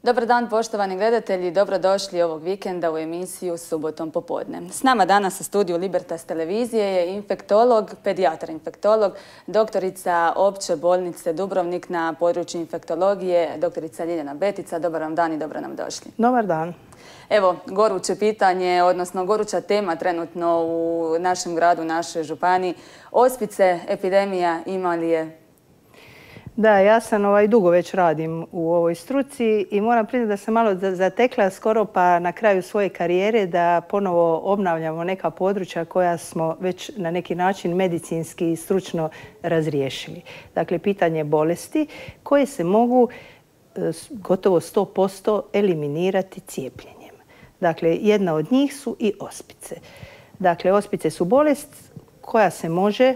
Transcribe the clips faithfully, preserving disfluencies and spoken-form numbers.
Dobar dan, poštovani gledatelji, dobrodošli ovog vikenda u emisiju Subotom popodne. S nama danas u studiju Libertas televizije je infektolog, pedijatar infektolog, doktorica Opće bolnice Dubrovnik na području infektologije, doktorica Ljiljana Betica. Dobar vam dan i dobro nam došli. Dobar dan. Evo, goruće pitanje, odnosno goruća tema trenutno u našem gradu, našoj županiji. Ospice, epidemija, ima li je? Da, ja sam ovaj, dugo već radim u ovoj struci i moram priznati da sam malo zatekla skoro pa na kraju svoje karijere da ponovo obnavljamo neka područja koja smo već na neki način medicinski i stručno razriješili. Dakle, pitanje bolesti koje se mogu gotovo sto posto eliminirati cijepljenjem. Dakle, jedna od njih su i ospice. Dakle, ospice su bolest koja se može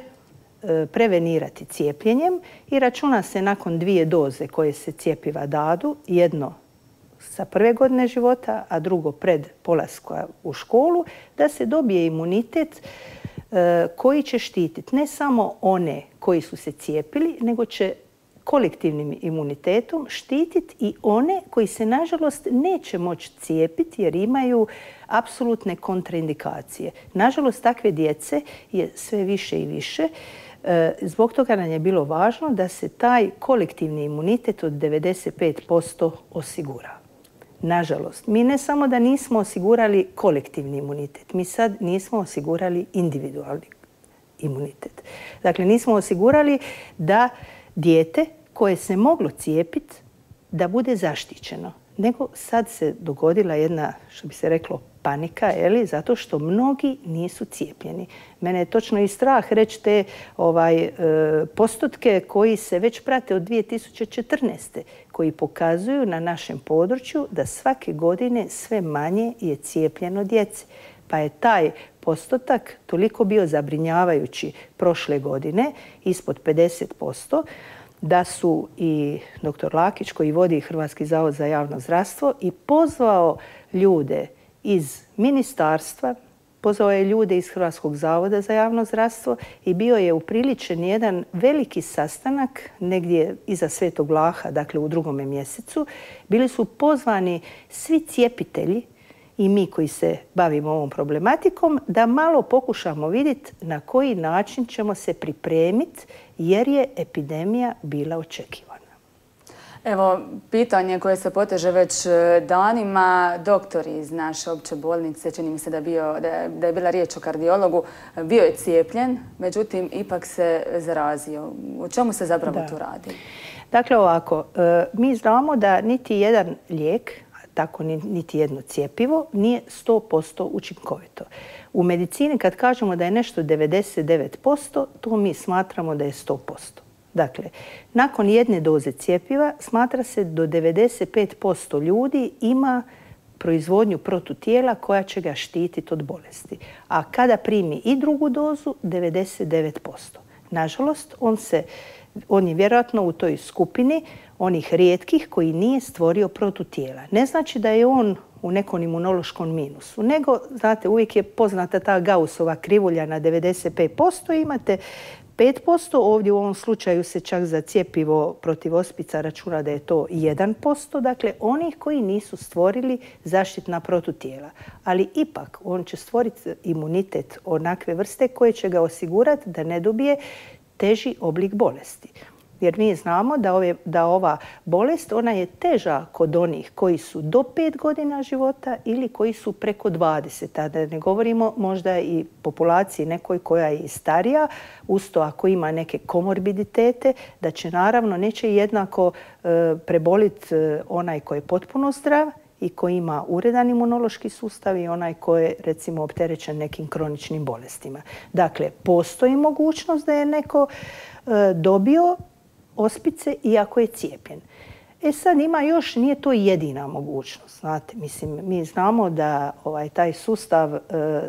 prevenirati cijepljenjem i računa se nakon dvije doze koje se cjepiva dadu, jedno sa prve godine života, a drugo pred polaska u školu, da se dobije imunitet koji će štititi ne samo one koji su se cijepili, nego će kolektivnim imunitetom štititi i one koji se nažalost neće moći cijepiti jer imaju apsolutne kontraindikacije. Nažalost, takve djece je sve više i više. Zbog toga nam je bilo važno da se taj kolektivni imunitet od devedeset pet posto osigura. Nažalost, mi ne samo da nismo osigurali kolektivni imunitet, mi sad nismo osigurali individualni imunitet. Dakle, nismo osigurali da dijete koje se moglo cijepiti da bude zaštićeno. Nego sad se dogodila jedna, što bi se reklo, panika, je zato što mnogi nisu cijepljeni. Mene je točno i strah reći te ovaj, e, postotke koji se već prate od dvije tisuće četrnaeste. koji pokazuju na našem području da svake godine sve manje je cijepljeno djece. Pa je taj postotak toliko bio zabrinjavajući prošle godine, ispod pedeset posto, da su i doktor Lakić, koji vodi Hrvatski zavod za javno zdravstvo, i pozvao ljude iz ministarstva, pozvao je ljude iz Hrvatskog zavoda za javno zdravstvo i bio je upriličen jedan veliki sastanak negdje iza Svetog Vlaha, dakle u drugome mjesecu. Bili su pozvani svi cijepitelji i mi koji se bavimo ovom problematikom da malo pokušamo vidjeti na koji način ćemo se pripremiti jer je epidemija bila očekivana. Evo, pitanje koje se poteže već danima. Doktor iz naše opće bolnice, čini mi se da je, bio, da je bila riječ o kardiologu, bio je cijepljen, međutim ipak se zarazio. O čemu se zapravo da. tu radi? Dakle, ovako, mi znamo da niti jedan lijek, tako niti jedno cjepivo, nije sto posto učinkovito. U medicini kad kažemo da je nešto devedeset devet posto, to mi smatramo da je sto posto. Dakle, nakon jedne doze cjepiva smatra se do devedeset pet posto ljudi ima proizvodnju protutijela koja će ga štititi od bolesti. A kada primi i drugu dozu, devedeset devet posto. Nažalost, on, se, on je vjerojatno u toj skupini onih rijetkih koji nije stvorio protutijela. Ne znači da je on u nekom imunološkom minusu, nego, znate, uvijek je poznata ta Gaussova krivulja na devedeset pet posto, imate pet posto, ovdje u ovom slučaju se čak za cjepivo protiv ospica računa da je to jedan posto, dakle onih koji nisu stvorili zaštitna protutijela. Ali ipak on će stvoriti imunitet onakve vrste koje će ga osigurati da ne dobije teži oblik bolesti. Jer mi znamo da, ove, da ova bolest ona je teža kod onih koji su do pet godina života ili koji su preko dvadeset. A da ne govorimo možda i populaciji nekoj koja je i starija, usto ako ima neke komorbiditete, da će naravno neće jednako e, preboliti e, onaj koji je potpuno zdrav i koji ima uredan imunološki sustav i onaj koji je recimo opterećen nekim kroničnim bolestima. Dakle, postoji mogućnost da je neko e, dobio ospice iako je cijepljen. E sad ima još, nije to jedina mogućnost. Znate, mislim, mi znamo da ovaj, taj sustav e,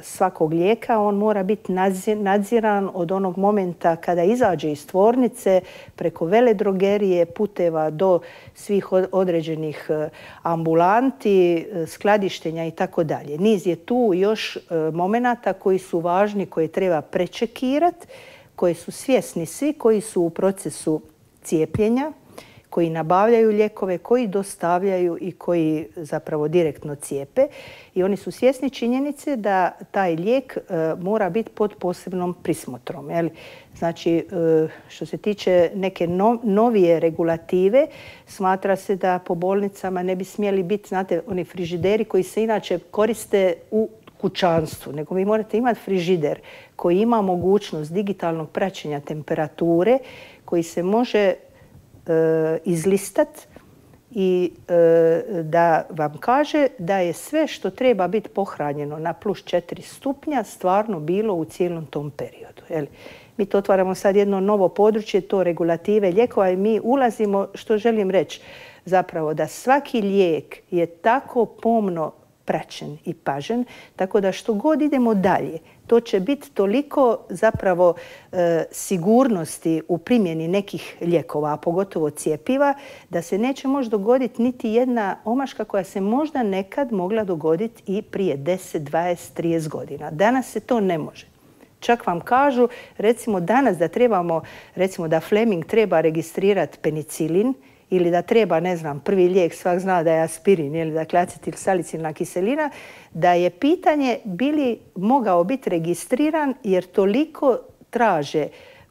svakog lijeka, on mora biti nadziran od onog momenta kada izađe iz tvornice preko veledrogerije, puteva do svih određenih ambulanti, skladištenja i tako dalje. Niz je tu još e, momenata koji su važni, koje treba prečekirati, koje su svjesni svi koji su u procesu cijepljenja, koji nabavljaju lijekove, koji dostavljaju i koji zapravo direktno cijepe. I oni su svjesni činjenice da taj lijek e, mora biti pod posebnom prismotrom. Jel? Znači, e, što se tiče neke no, novije regulative, smatra se da po bolnicama ne bi smjeli biti, znate, oni frižideri koji se inače koriste u kućanstvu, nego vi morate imati frižider koji ima mogućnost digitalnog praćenja temperature, koji se može e, izlistati i e, da vam kaže da je sve što treba biti pohranjeno na plus četiri stupnja stvarno bilo u cijelom tom periodu. Jel? Mi to otvaramo sad jedno novo područje, to regulative lijekova i mi ulazimo, što želim reći, zapravo da svaki lijek je tako pomno praćen i pažen, tako da što god idemo dalje, to će biti toliko zapravo e, sigurnosti u primjeni nekih lijekova, a pogotovo cjepiva, da se neće moći dogoditi niti jedna omaška koja se možda nekad mogla dogoditi i prije deset, dvadeset, trideset godina. Danas se to ne može. Čak vam kažu, recimo danas da trebamo, recimo da Fleming treba registrirati penicilin, ili da treba, ne znam, prvi lijek, svak zna da je aspirin, ili dakle acetil salicilna kiselina, da je pitanje bi li mogao biti registriran jer toliko traže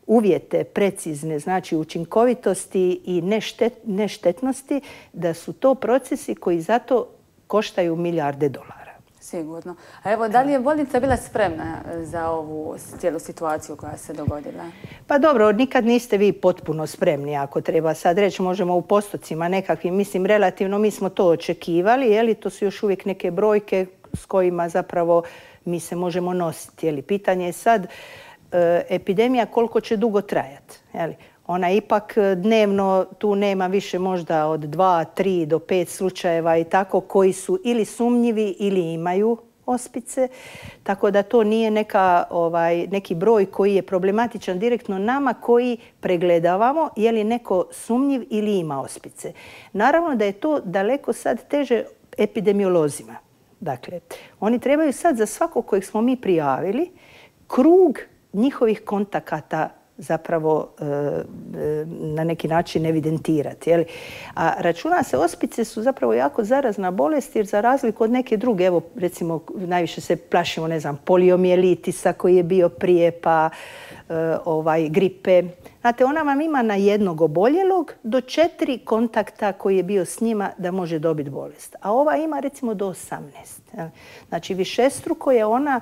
uvjete precizne, znači učinkovitosti i neštet, neštetnosti, da su to procesi koji zato koštaju milijarde dolara. Sigurno. A evo, da li je bolnica bila spremna za ovu cijelu situaciju koja se dogodila? Pa dobro, nikad niste vi potpuno spremni, ako treba sad reći, možemo u postocima nekakvim, mislim, relativno mi smo to očekivali, jeli, to su još uvijek neke brojke s kojima zapravo mi se možemo nositi. Jeli. Pitanje je sad e, epidemija koliko će dugo trajati. Jeli. Ona ipak dnevno tu nema više možda od dva, tri do pet slučajeva i tako koji su ili sumnjivi ili imaju ospice. Tako da to nije neka, ovaj, neki broj koji je problematičan direktno nama koji pregledavamo je li neko sumnjiv ili ima ospice. Naravno da je to daleko sad teže epidemiolozima. Dakle, oni trebaju sad za svakog kojeg smo mi prijavili krug njihovih kontakata zapravo e, e, na neki način evidentirati. Jeli? A računa se, ospice su zapravo jako zarazna bolest jer za razliku od neke druge, evo recimo najviše se plašimo, ne znam, poliomijelitisa koji je bio prije, pa e, ovaj, gripe. Znate, ona vam ima na jednog oboljelog do četiri kontakta koji je bio s njima da može dobiti bolest. A ova ima recimo do osamnaest. Jeli? Znači višestruko je ona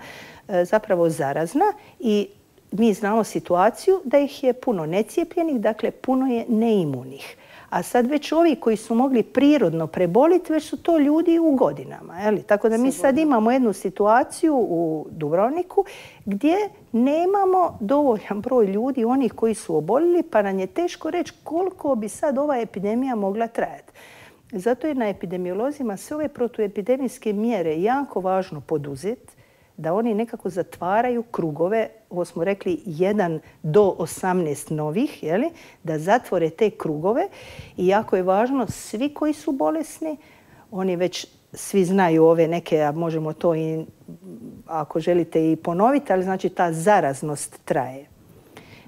e, zapravo zarazna i mi znamo situaciju da ih je puno necijepljenih, dakle puno je neimunih. A sad već ovi koji su mogli prirodno preboliti, već su to ljudi u godinama. Jeli? Tako da mi sad imamo jednu situaciju u Dubrovniku gdje nemamo dovoljan broj ljudi, onih koji su oboljeli, pa nam je teško reći koliko bi sad ova epidemija mogla trajati. Zato je na epidemiolozima sve ove protuepidemijske mjere jako važno poduzeti, da oni nekako zatvaraju krugove, ovo smo rekli jedan do osamnaest novih, jeli, da zatvore te krugove i jako je važno svi koji su bolesni, oni već svi znaju ove neke, a možemo to i ako želite i ponoviti, ali znači ta zaraznost traje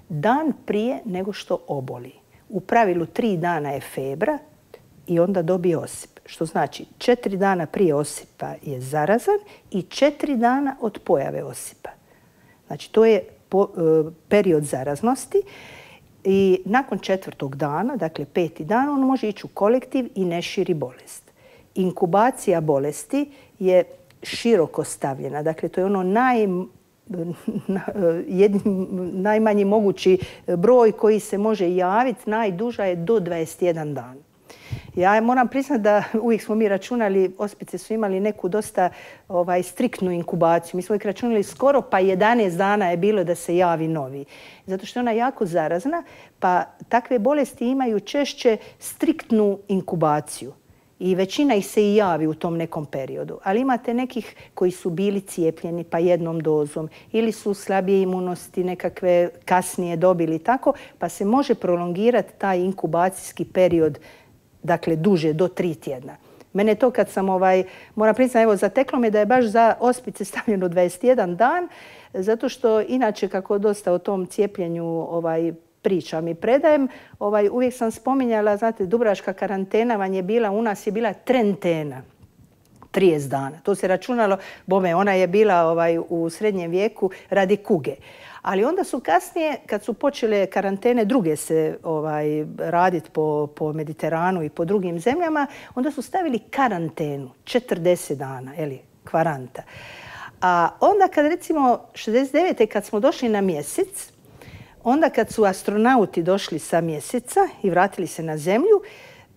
dan prije nego što oboli. U pravilu tri dana je febra i onda dobije osip. Što znači četiri dana prije osipa je zarazan i četiri dana od pojave osipa. Znači to je po, e, period zaraznosti i nakon četvrtog dana, dakle peti dan, on može ići u kolektiv i ne širi bolest. Inkubacija bolesti je široko stavljena. Dakle, to je ono naj, jedin, najmanji mogući broj koji se može javiti. Najduža je do dvadeset jedan dan. Ja moram priznati da uvijek smo mi računali, ospice su imali neku dosta ovaj, striktnu inkubaciju. Mi smo ih računali skoro pa jedanaest dana je bilo da se javi novi. Zato što je ona jako zarazna, pa takve bolesti imaju češće striktnu inkubaciju. I većina ih se i javi u tom nekom periodu. Ali imate nekih koji su bili cijepljeni pa jednom dozom ili su slabije imunosti nekakve kasnije dobili tako, pa se može prolongirati taj inkubacijski period, dakle duže, do tri tjedna. Mene to kad sam, ovaj, moram priznati, evo, zateklo me da je baš za ospice stavljeno dvadeset jedan dan, zato što inače kako dosta o tom cijepljenju ovaj, pričam i predajem, ovaj, uvijek sam spominjala, znate, dubrovačka karantena vam je bila, u nas je bila trentena. trideset dana. To se računalo, bome, ona je bila ovaj, u srednjem vijeku radi kuge. Ali onda su kasnije, kad su počele karantene druge se ovaj, raditi po, po Mediteranu i po drugim zemljama, onda su stavili karantenu, četrdeset dana, eli, kvaranta. A onda kad recimo šezdeset devete kad smo došli na mjesec, onda kad su astronauti došli sa mjeseca i vratili se na zemlju,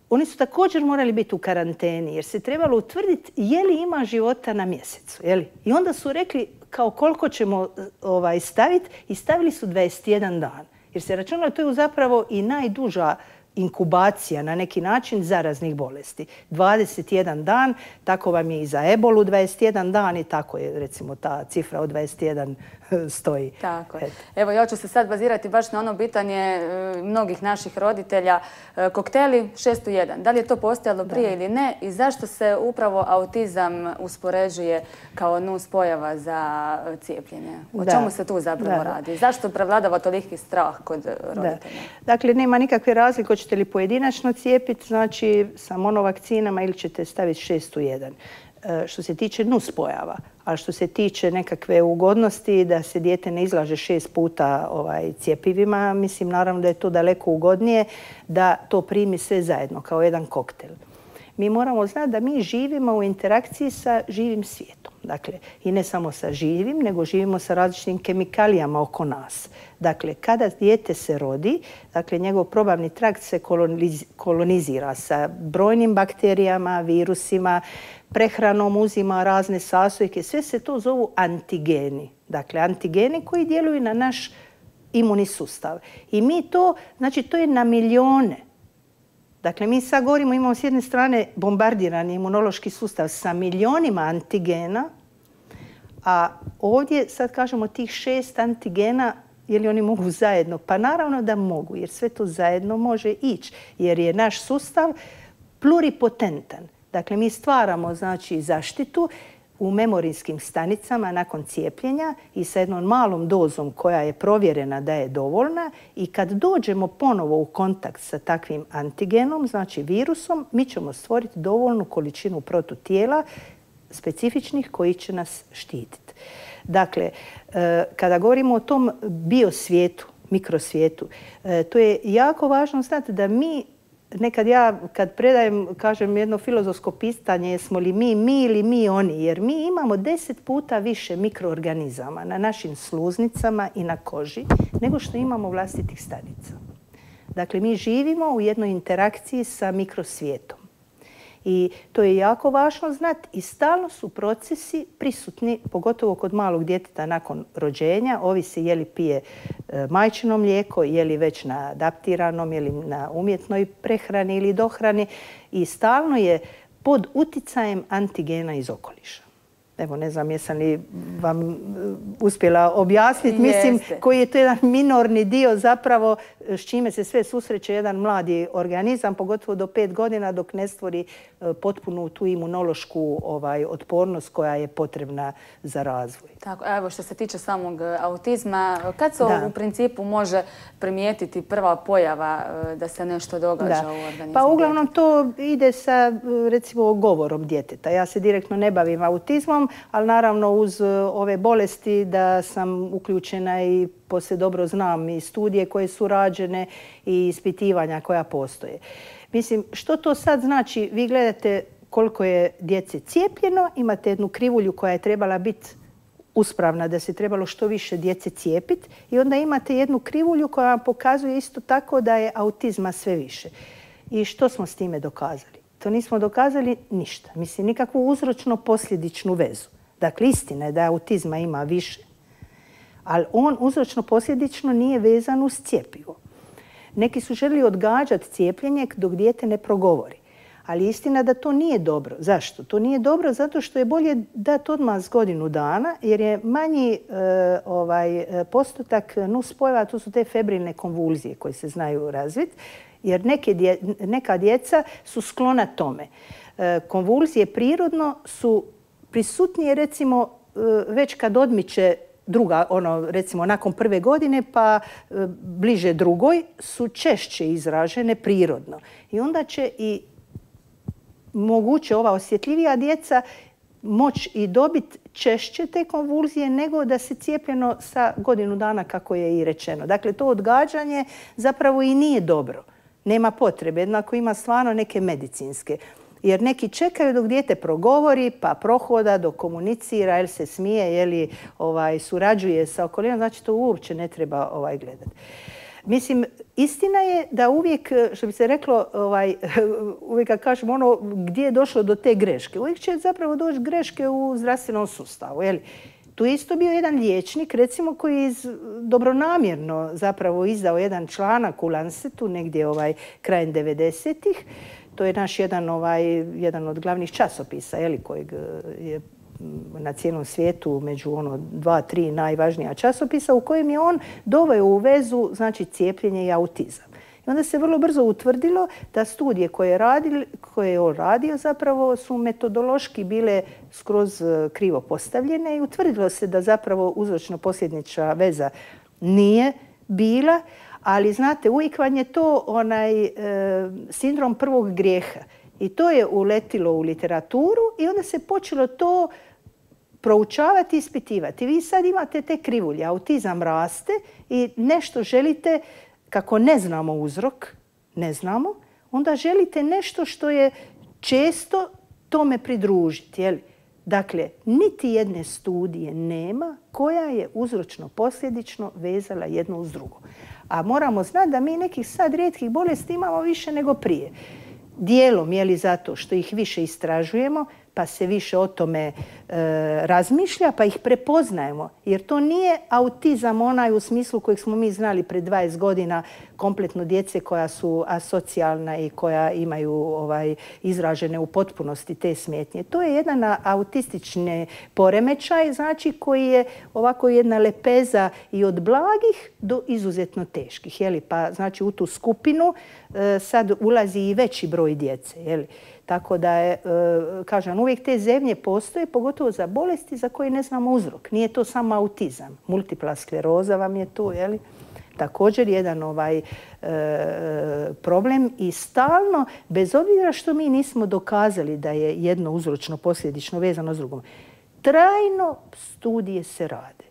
oni su također morali biti u karanteni jer se trebalo utvrditi je li ima života na mjesecu. Je li? I onda su rekli kao koliko ćemo ovaj, staviti i stavili su dvadeset jedan dan. Jer se računalo to je zapravo i najduža inkubacija na neki način zaraznih bolesti. dvadeset jedan dan, tako vam je i za ebolu dvadeset jedan dan i tako je recimo ta cifra od dvadeset jedan stoji. Tako je. Evo ja ću se sad bazirati baš na ono pitanje mnogih naših roditelja. Kokteli šest u jedan. Da li je to postojalo prije da. ili ne i zašto se upravo autizam uspoređuje kao nuspojava za cijepljenje? O da. čemu se tu zapravo da. radi? Zašto prevladava toliki strah kod roditelja? Da. Dakle, nema nikakve razlike hoćete li pojedinačno cijepiti, znači sa monovakcinama ili ćete staviti šest u jedan. Što se tiče nuspojava, a što se tiče nekakve ugodnosti da se dijete ne izlaže šest puta ovaj, cjepivima, mislim naravno da je to daleko ugodnije da to primi sve zajedno kao jedan koktel. Mi moramo znati da mi živimo u interakciji sa živim svijetom. Dakle, i ne samo sa živim, nego živimo sa različitim kemikalijama oko nas. Dakle, kada dijete se rodi, dakle, njegov probavni trakt se kolonizira sa brojnim bakterijama, virusima, prehranom uzima razne sastojke. Sve se to zovu antigeni. Dakle, antigeni koji djeluju na naš imunni sustav. I mi to, znači, to je na milijone. Dakle, mi sad govorimo, imamo s jedne strane bombardirani imunološki sustav sa milionima antigena, a ovdje sad kažemo tih šest antigena, je li oni mogu zajedno? Pa naravno da mogu, jer sve to zajedno može ići, jer je naš sustav pluripotentan. Dakle, mi stvaramo znači, zaštitu u memorijskim stanicama nakon cijepljenja i sa jednom malom dozom koja je provjerena da je dovoljna i kad dođemo ponovo u kontakt sa takvim antigenom, znači virusom, mi ćemo stvoriti dovoljnu količinu protutijela specifičnih koji će nas štititi. Dakle, kada govorimo o tom biosvijetu, mikrosvijetu, to je jako važno znati da mi nekad ja, kad predajem, kažem jedno filozofsko pitanje, jesmo li mi mi ili mi oni, jer mi imamo deset puta više mikroorganizama na našim sluznicama i na koži nego što imamo vlastitih stanica. Dakle, mi živimo u jednoj interakciji sa mikrosvijetom. I to je jako važno znati i stalno su procesi prisutni, pogotovo kod malog djeteta nakon rođenja, ovisi je li pije majčino mlijeko, je li već na adaptiranom, je li na umjetnoj prehrani ili dohrani i stalno je pod uticajem antigena iz okoliša. Evo, ne znam jesam li vam uspjela objasniti, mislim koji je to jedan minorni dio zapravo s čime se sve susreće jedan mladi organizam, pogotovo do pet godina dok ne stvori potpunu tu imunološku ovaj, otpornost koja je potrebna za razvoj. Tako, evo što se tiče samog autizma, kad se da. u principu može primijetiti prva pojava da se nešto događa da. u organizmu? Pa uglavnom to ide sa recimo govorom djeteta. Ja se direktno ne bavim autizmom, ali naravno uz ove bolesti da sam uključena i poslije dobro znam i studije koje su rađene i ispitivanja koja postoje. Mislim, što to sad znači? Vi gledate koliko je djece cijepljeno, imate jednu krivulju koja je trebala biti uspravna, da se trebalo što više djece cijepiti i onda imate jednu krivulju koja vam pokazuje isto tako da je autizma sve više. I što smo s time dokazali? To nismo dokazali ništa. Mislim, nikakvu uzročno-posljedičnu vezu. Dakle, istina je da autizma ima više, ali on uzročno-posljedično nije vezan uz cjepivo. Neki su željeli odgađati cijepljenje dok dijete ne progovori. Ali istina da to nije dobro. Zašto? To nije dobro zato što je bolje dati odmah s godinu dana jer je manji e, ovaj, postotak nuspojava, to su te febrilne konvulzije koje se znaju razviti, jer neke dje, neka djeca su sklona tome. E, konvulzije prirodno su prisutnije recimo e, već kad odmiče druga, ono, recimo nakon prve godine pa e, bliže drugoj su češće izražene prirodno. I onda će i moguće ova osjetljivija djeca moći i dobiti češće te konvulzije nego da se cijepljeno sa godinu dana, kako je i rečeno. Dakle, to odgađanje zapravo i nije dobro. Nema potrebe, jednako ima stvarno neke medicinske. Jer neki čekaju dok dijete progovori, pa prohoda, dok komunicira, jer se smije, jer ovaj, surađuje sa okolinom, znači to uopće ne treba ovaj, gledati. Mislim, istina je da uvijek, što bi se reklo, ovaj, uvijek kad kažemo ono gdje je došlo do te greške, uvijek će zapravo doći greške u zdravstvenom sustavu. Jel? Tu je isto bio jedan liječnik, recimo, koji je dobronamjerno zapravo izdao jedan članak u Lancetu, negdje ovaj, krajem devedesetih. To je naš jedan, ovaj, jedan od glavnih časopisa, jeli, kojeg je na cijelom svijetu među ono dva, tri najvažnija časopisa, u kojem je on doveo u vezu, znači, cijepljenje i autizam. I onda se vrlo brzo utvrdilo da studije koje je, radil, koje je on radio zapravo su metodološki bile skroz krivo postavljene i utvrdilo se da zapravo uzročno-posljedična veza nije bila, ali znate, uvijek vam je to onaj e, sindrom prvog grijeha. I to je uletilo u literaturu i onda se počelo to proučavati i ispitivati. Vi sad imate te krivulje, autizam raste i nešto želite, kako ne znamo uzrok, ne znamo, onda želite nešto što je često tome pridružiti. Jel? Dakle, niti jedne studije nema koja je uzročno-posljedično vezala jedno uz drugo. A moramo znati da mi nekih sad rijetkih bolesti imamo više nego prije. Dijelom je li zato što ih više istražujemo, pa se više o tome e, razmišlja, pa ih prepoznajemo. Jer to nije autizam onaj u smislu kojeg smo mi znali pred dvadeset godina, kompletno djece koja su asocijalna i koja imaju ovaj, izražene u potpunosti te smetnje. To je jedan autistični poremećaj, znači, koji je ovako jedna lepeza i od blagih do izuzetno teških. Jeli? Pa znači u tu skupinu e, sad ulazi i veći broj djece. Jeli? Tako da je, kažem, uvijek te zemlje postoje, pogotovo za bolesti za koje ne znamo uzrok. Nije to samo autizam. Multipla skleroza vam je tu, jeli? Također jedan ovaj e, problem i stalno, bez obzira što mi nismo dokazali da je jedno uzročno posljedično vezano s drugom, trajno studije se rade.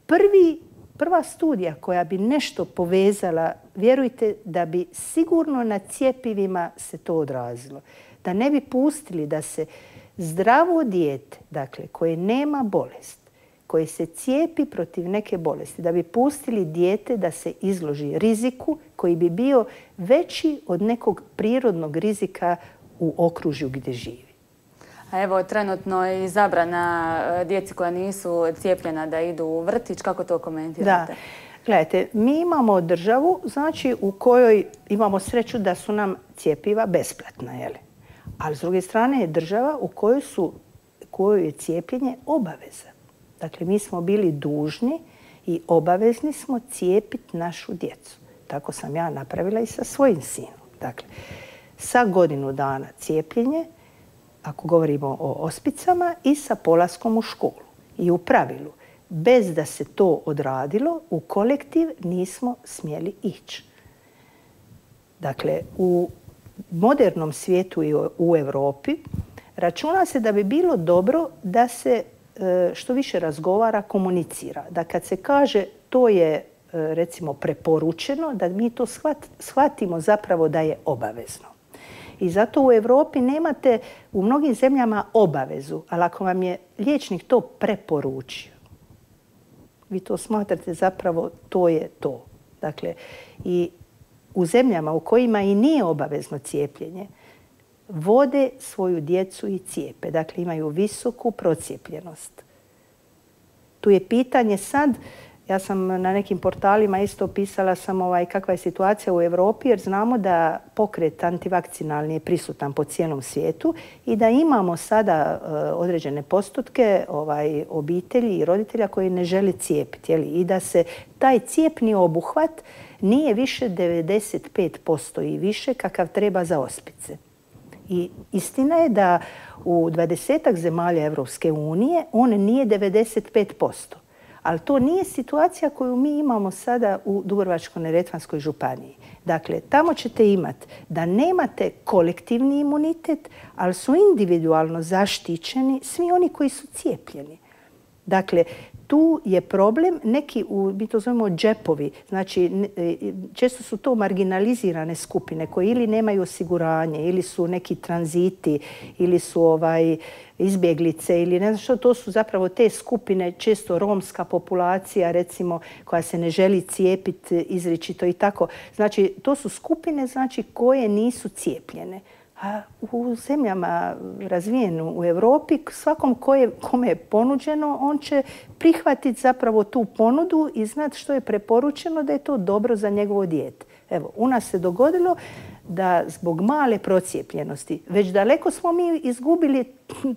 Prvi, prva studija koja bi nešto povezala, vjerujte da bi sigurno na cjepivima se to odrazilo. Da ne bi pustili da se zdravo dijete, dakle, koje nema bolest, koje se cijepi protiv neke bolesti, da bi pustili dijete da se izloži riziku koji bi bio veći od nekog prirodnog rizika u okružju gdje živi. A evo, trenutno je i zabrana djeci koja nisu cijepljena da idu u vrtić. Kako to komentirate? Da. Gledajte, mi imamo državu, znači, u kojoj imamo sreću da su nam cjepiva besplatna, jel? Ali s druge strane je država u kojoj, su, kojoj je cijepljenje obaveza. Dakle, mi smo bili dužni i obavezni smo cijepiti našu djecu. Tako sam ja napravila i sa svojim sinom. Dakle, sa godinu dana cijepljenje, ako govorimo o ospicama, i sa polaskom u školu. I u pravilu, bez da se to odradilo, u kolektiv nismo smjeli ići. Dakle, u modernom svijetu i u Europi računa se da bi bilo dobro da se što više razgovara, komunicira. Da kad se kaže to je, recimo, preporučeno, da mi to shvatimo zapravo da je obavezno. I zato u Europi nemate u mnogim zemljama obavezu, ali ako vam je liječnik to preporučio, vi to smatrate zapravo to je to. Dakle, i u zemljama u kojima i nije obavezno cijepljenje, vode svoju djecu i cijepe. Dakle, imaju visoku procijepljenost. Tu je pitanje sad, ja sam na nekim portalima isto pisala sam ovaj, kakva je situacija u Europi, jer znamo da pokret antivakcinalni je prisutan po cijelom svijetu i da imamo sada uh, određene postotke ovaj, obitelji i roditelja koji ne žele cijepiti. Jeli? I da se taj cijepni obuhvat nije više devedeset pet posto i više kakav treba za ospice. I istina je da u dvadesetak zemalja Evropske unije on nije devedeset pet posto. Ali to nije situacija koju mi imamo sada u Dubrovačko-neretvanskoj županiji. Dakle, tamo ćete imati da nemate kolektivni imunitet, ali su individualno zaštićeni svi oni koji su cijepljeni. Dakle, tu je problem, neki, mi to zovemo džepovi, znači često su to marginalizirane skupine koje ili nemaju osiguranje, ili su neki tranziti, ili su ovaj, izbjeglice, ili ne znam što, to su zapravo te skupine, često romska populacija, recimo, koja se ne želi cijepiti izričito i tako. Znači, to su skupine znači, koje nisu cijepljene. A u zemljama razvijenu u Europi, svakom koje, kome je ponuđeno, on će prihvatiti zapravo tu ponudu i znati što je preporučeno da je to dobro za njegovo dijete. Evo, u nas se dogodilo da zbog male procijepljenosti, već daleko smo mi izgubili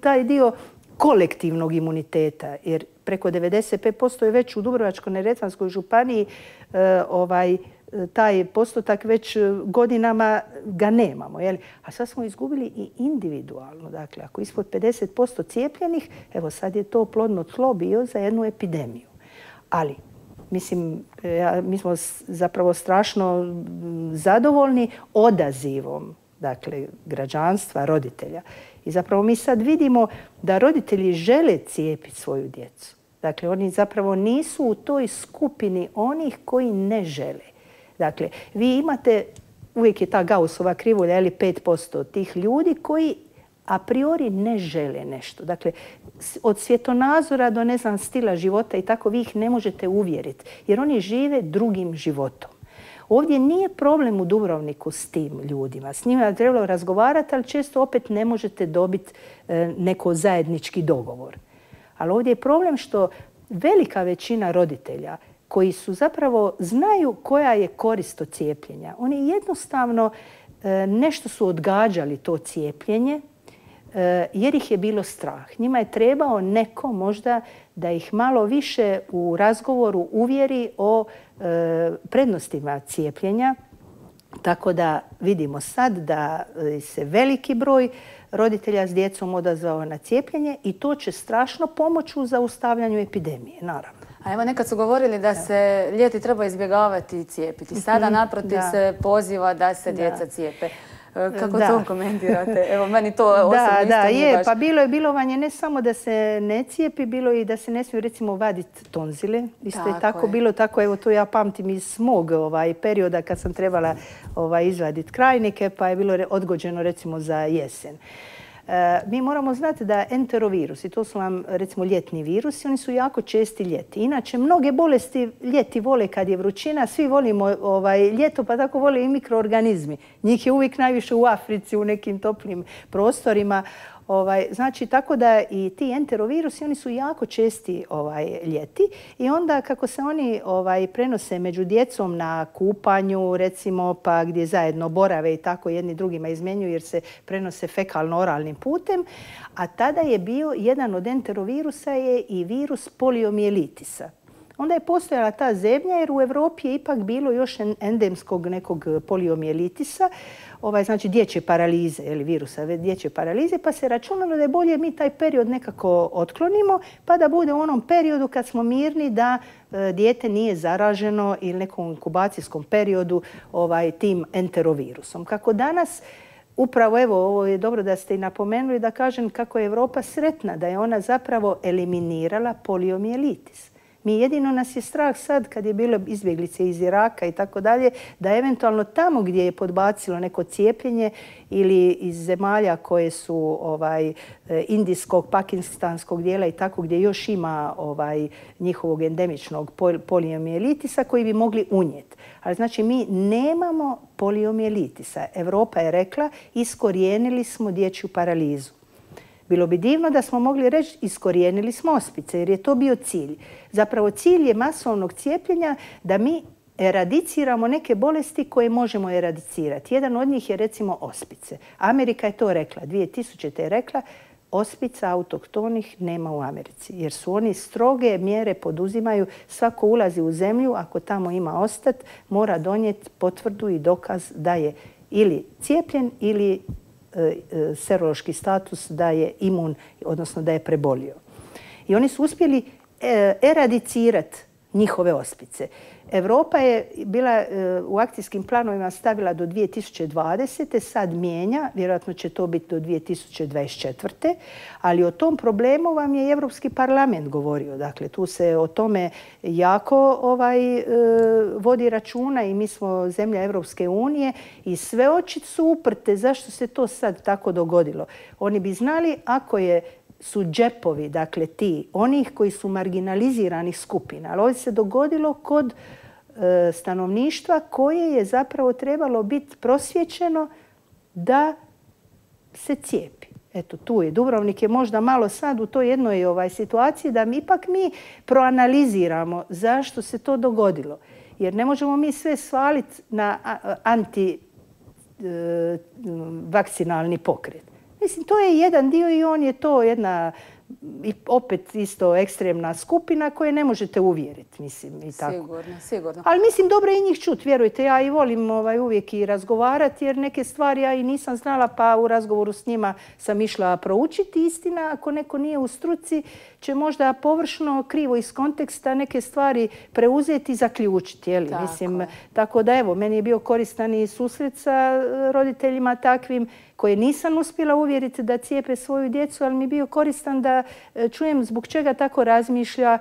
taj dio kolektivnog imuniteta, jer preko devedeset pet posto je već u Dubrovačko-neretvanskoj županiji e, ovaj, taj postotak već godinama ga nemamo. Jel? A sad smo izgubili i individualno. Dakle, ako ispod pedeset posto cijepljenih, evo sad je to plodno tlo bio za jednu epidemiju. Ali, mislim, ja, mi smo zapravo strašno zadovoljni odazivom dakle, građanstva, roditelja. I zapravo mi sad vidimo da roditelji žele cijepiti svoju djecu. Dakle, oni zapravo nisu u toj skupini onih koji ne žele. Dakle, vi imate, uvijek je ta Gaussova krivulja, ili pet posto tih ljudi koji a priori ne žele nešto. Dakle, od svjetonazora do, ne znam, stila života i tako vi ih ne možete uvjeriti, jer oni žive drugim životom. Ovdje nije problem u Dubrovniku s tim ljudima. S njima je trebalo razgovarati, ali često opet ne možete dobiti neko zajednički dogovor. Ali ovdje je problem što velika većina roditelja koji su zapravo znaju koja je korist od cijepljenja. Oni jednostavno nešto su odgađali to cijepljenje jer ih je bilo strah. Njima je trebao neko možda da ih malo više u razgovoru uvjeri o prednostima cijepljenja. Tako da vidimo sad da se veliki broj roditelja s djecom odazvao na cijepljenje i to će strašno pomoći u zaustavljanju epidemije, naravno. A evo nekad su govorili da se ljeti treba izbjegavati i cijepiti. Sada naprotiv se poziva da se djeca cijepe. Kako to komentirate? Evo, meni to osobno isto Da, nije je, baš... pa bilo je bilovanje ne samo da se ne cijepi, bilo i da se ne smiju recimo vaditi tonzile. Isto je tako bilo, tako evo to ja pamtim iz mog ovaj, perioda kad sam trebala ovaj, izvaditi krajnike, pa je bilo odgođeno recimo za jesen. Mi moramo znati da enterovirusi, to su vam recimo ljetni virusi, oni su jako česti ljeti. Inače, mnoge bolesti ljeti vole kad je vrućina, svi volimo ovaj, ljeto, pa tako vole i mikroorganizmi. Njih je uvijek najviše u Africi, u nekim toplim prostorima. Ovaj, znači, tako da i ti enterovirusi, oni su jako česti ovaj, ljeti i onda kako se oni ovaj, prenose među djecom na kupanju, recimo, pa gdje zajedno borave i tako jedni drugima izmjenjuju jer se prenose fekalno-oralnim putem, a tada je bio jedan od enterovirusa je i virus poliomijelitisa. Onda je postojala ta zemlja jer u Europi je ipak bilo još endemskog nekog poliomijelitisa, ovaj, znači dječje paralize, ili virusa dječje paralize, pa se računalo da je bolje mi taj period nekako otklonimo, pa da bude u onom periodu kad smo mirni da e, dijete nije zaraženo ili nekom inkubacijskom periodu ovaj, tim enterovirusom. Kako danas, upravo evo, ovo je dobro da ste i napomenuli da kažem kako je Europa sretna, da je ona zapravo eliminirala poliomijelitis. Mi jedino nas je strah sad kad je bilo izbjeglice iz Iraka i tako dalje, da eventualno tamo gdje je podbacilo neko cijepljenje ili iz zemalja koje su ovaj, indijskog, pakistanskog dijela i tako gdje još ima ovaj, njihovog endemičnog poliomijelitisa koji bi mogli unijeti. Ali znači mi nemamo poliomijelitisa. Europa je rekla iskorijenili smo dječju paralizu. Bilo bi divno da smo mogli reći iskorijenili smo ospice jer je to bio cilj. Zapravo cilj je masovnog cijepljenja da mi eradiciramo neke bolesti koje možemo eradicirati. Jedan od njih je recimo ospice. Amerika je to rekla, dvije tisućite je rekla ospica autohtonih nema u Americi jer su oni stroge mjere poduzimaju. Svako ulazi u zemlju, ako tamo ima ostat, mora donijeti potvrdu i dokaz da je ili cijepljen ili serološki status da je imun, odnosno da je prebolio. I oni su uspjeli eradicirati njihove ospice. Europa je bila u akcijskim planovima stavila do dvije tisuće dvadesete. Sad mijenja, vjerojatno će to biti do dvije tisuće dvadeset četvrte. Ali o tom problemu vam je i Europski parlament govorio. Dakle, tu se o tome jako ovaj, vodi računa i mi smo zemlja Europske unije i sve oči su uprte zašto se to sad tako dogodilo. Oni bi znali ako je su džepovi, dakle ti, onih koji su marginaliziranih skupina. Ali ovdje se dogodilo kod e, stanovništva koje je zapravo trebalo biti prosvjećeno da se cijepi. Eto, tu je. Dubrovnik je možda malo sad u toj jednoj ovaj, situaciji da mi ipak mi proanaliziramo zašto se to dogodilo. Jer ne možemo mi sve svaliti na antivakcinalni pokret. Mislim, to je jedan dio i on je to jedna i opet isto ekstremna skupina koje ne možete uvjeriti, mislim, i tako. Sigurno, sigurno. Ali mislim, dobro je i njih čut, vjerujte, ja i volim ovaj, uvijek i razgovarati, jer neke stvari ja i nisam znala, pa u razgovoru s njima sam išla proučiti. Istina, ako neko nije u struci, će možda površno, krivo iz konteksta neke stvari preuzeti i zaključiti. Jeli? Tako. Mislim, tako da evo, meni je bio koristan i susret sa roditeljima takvim koje nisam uspjela uvjeriti da cijepe svoju djecu, ali mi je bio koristan da čujem zbog čega tako razmišlja,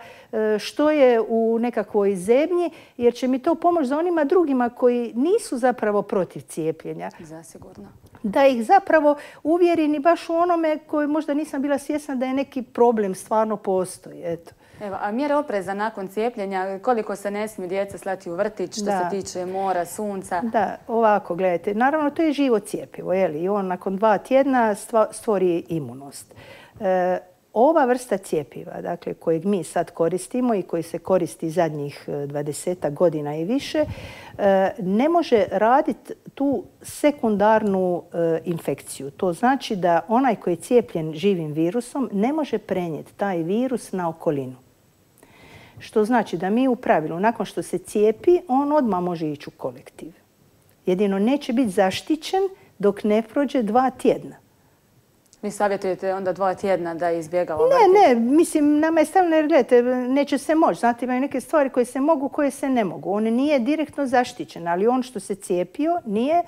što je u nekakvoj zemlji, jer će mi to pomoći za onima drugima koji nisu zapravo protiv cijepljenja. Zasigurno. Da ih zapravo uvjerim i baš u onome koji možda nisam bila svjesna da je neki problem stvarno postoji. Eto. Evo, a mjere opreza nakon cijepljenja, koliko se ne smiju djeca slati u vrtić što da. se tiče mora, sunca? Da, ovako, gledajte, naravno to je živo cjepivo, je li? I on nakon dva tjedna stvori imunost. E, ova vrsta cjepiva, dakle, kojeg mi sad koristimo i koji se koristi zadnjih dvadesetak godina i više, e, ne može raditi tu sekundarnu e, infekciju. To znači da onaj koji je cijepljen živim virusom ne može prenijeti taj virus na okolinu. Što znači da mi u pravilu, nakon što se cijepi, on odmah može ići u kolektiv. Jedino neće biti zaštićen dok ne prođe dva tjedna. Vi savjetujete onda dva tjedna da izbjegava vrtić? Ne, ne, mislim, nama je stavljeno, jer gledajte, neće se moći. Znate, imaju neke stvari koje se mogu, koje se ne mogu. On nije direktno zaštićen, ali on što se cijepio nije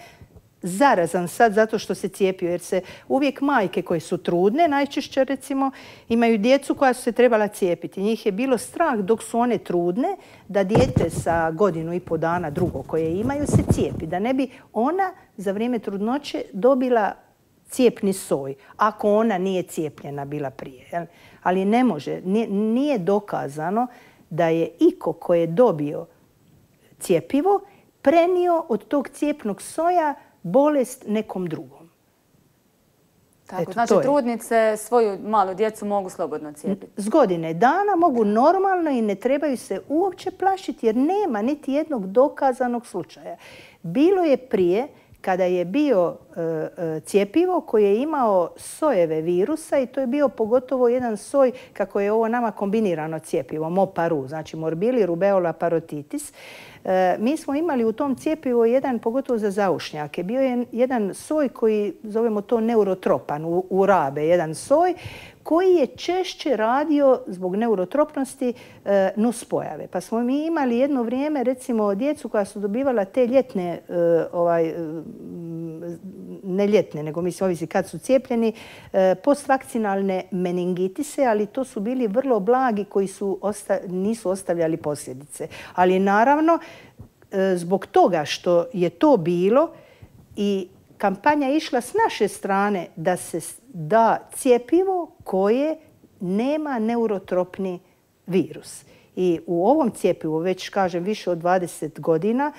zarazan sad zato što se cijepio, jer se uvijek majke koje su trudne, najčešće recimo, imaju djecu koja su se trebala cijepiti. Njih je bilo strah dok su one trudne da dijete sa godinu i po dana drugo koje imaju se cijepi. Da ne bi ona za vrijeme trudnoće dobila cijepni soj, ako ona nije cijepljena bila prije. Jel? Ali ne može, nije, nije dokazano da je iko ko je dobio cjepivo prenio od tog cijepnog soja bolest nekom drugom. Tako, eto, znači trudnice svoju malu djecu mogu slobodno cijepiti? S godine dana mogu normalno i ne trebaju se uopće plašiti jer nema niti jednog dokazanog slučaja. Bilo je prije kada je bio e, cjepivo koje je imao sojeve virusa i to je bio pogotovo jedan soj kako je ovo nama kombinirano cjepivo, MOPARU, znači morbili, rubeola, parotitis. E, mi smo imali u tom cjepivu jedan, pogotovo za zaušnjake, bio je jedan soj koji zovemo to neurotropan, u, u rabe, jedan soj koji je češće radio zbog neurotropnosti e, nuspojave. Pa smo mi imali jedno vrijeme, recimo, djecu koja su dobivala te ljetne, e, ovaj, e, ne ljetne, nego mislim ovisi kad su cijepljeni, e, postvakcinalne meningitise, ali to su bili vrlo blagi koji su osta, nisu ostavljali posljedice. Ali naravno, e, zbog toga što je to bilo i kampanja je išla s naše strane da se da cjepivo koje nema neurotropni virus. I u ovom cjepivu, već kažem više od dvadeset godina,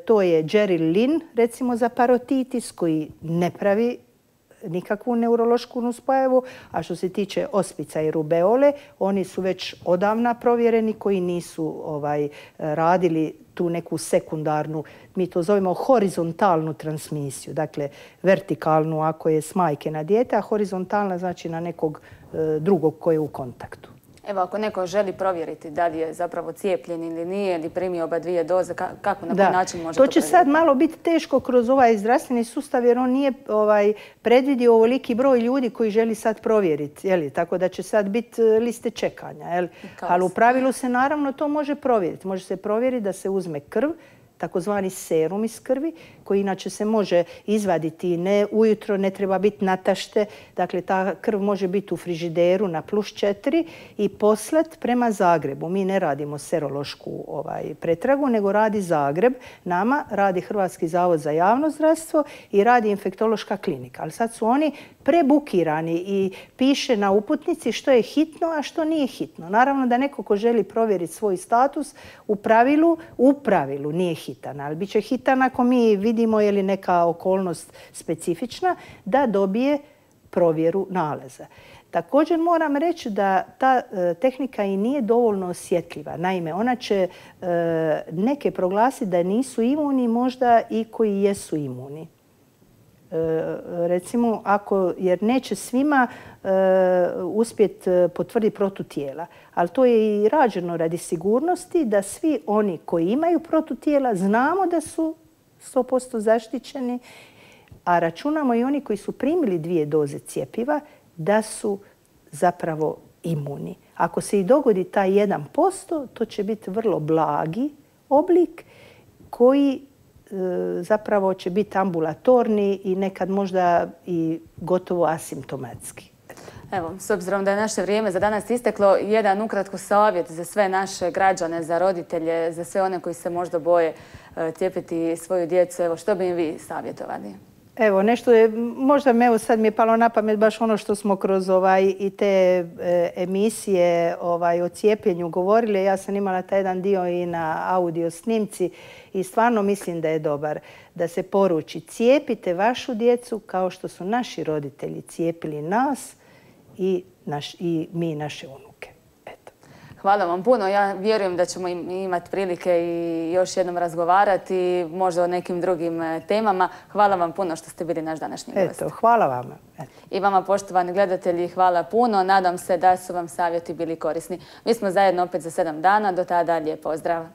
to je Gerilin, recimo za parotitis, koji ne pravi nikakvu neurološku nuspojavu, a što se tiče ospica i rubeole, oni su već odavna provjereni koji nisu ovaj, radili tu neku sekundarnu, mi to zovemo horizontalnu transmisiju, dakle vertikalnu ako je s majke na dijete, a horizontalna znači na nekog e, drugog koji je u kontaktu. Evo, ako neko želi provjeriti da li je zapravo cijepljen ili nije, ili primio oba dvije doze, kako, na koji način može to To će sad malo biti teško kroz ovaj zdravstveni sustav jer on nije ovaj, predvidio ovoliki broj ljudi koji želi sad provjeriti. Jeli? Tako da će sad biti liste čekanja. Jeli? Ali u pravilu se naravno to može provjeriti. Može se provjeriti da se uzme krv, takozvani serum iz krvi, koji inače se može izvaditi ne ujutro, ne treba biti natašte. Dakle, ta krv može biti u frižideru na plus četiri i poslat prema Zagrebu. Mi ne radimo serološku ovaj, pretragu, nego radi Zagreb. Nama radi Hrvatski zavod za javno zdravstvo i radi infektološka klinika. Ali sad su oni prebukirani i piše na uputnici što je hitno, a što nije hitno. Naravno da neko ko želi provjeriti svoj status, u pravilu, u pravilu nije hitan. Ali bit će hitan ako mi vidimo je li neka okolnost specifična da dobije provjeru nalaza. Također moram reći da ta e, tehnika i nije dovoljno osjetljiva. Naime, ona će e, neke proglasiti da nisu imuni, možda i koji jesu imuni. Recimo, ako, jer neće svima e, uspjeti potvrditi protutijela. Ali to je i rađeno radi sigurnosti da svi oni koji imaju protutijela znamo da su sto posto zaštićeni, a računamo i oni koji su primili dvije doze cjepiva da su zapravo imuni. Ako se i dogodi taj jedan posto, to će biti vrlo blagi oblik koji zapravo će biti ambulatorni i nekad možda i gotovo asimptomatski. Evo, s obzirom da je naše vrijeme za danas isteklo, jedan ukratko savjet za sve naše građane, za roditelje, za sve one koji se možda boje cijepiti svoju djecu. Evo, što bi im vi savjetovali? Evo, nešto je, možda me evo sad mi je palo na pamet baš ono što smo kroz ovaj, i te e, emisije ovaj, o cijepljenju govorili. Ja sam imala taj jedan dio i na audio snimci i stvarno mislim da je dobar da se poruči cijepite vašu djecu kao što su naši roditelji cijepili nas i, naš, i mi naše unuke. Hvala vam puno. Ja vjerujem da ćemo imati prilike i još jednom razgovarati, možda o nekim drugim temama. Hvala vam puno što ste bili naš današnji gost. Eto, hvala vama. Eto. I vama, poštovani gledatelji, hvala puno. Nadam se da su vam savjeti bili korisni. Mi smo zajedno opet za sedam dana. Do tada lijep pozdrav.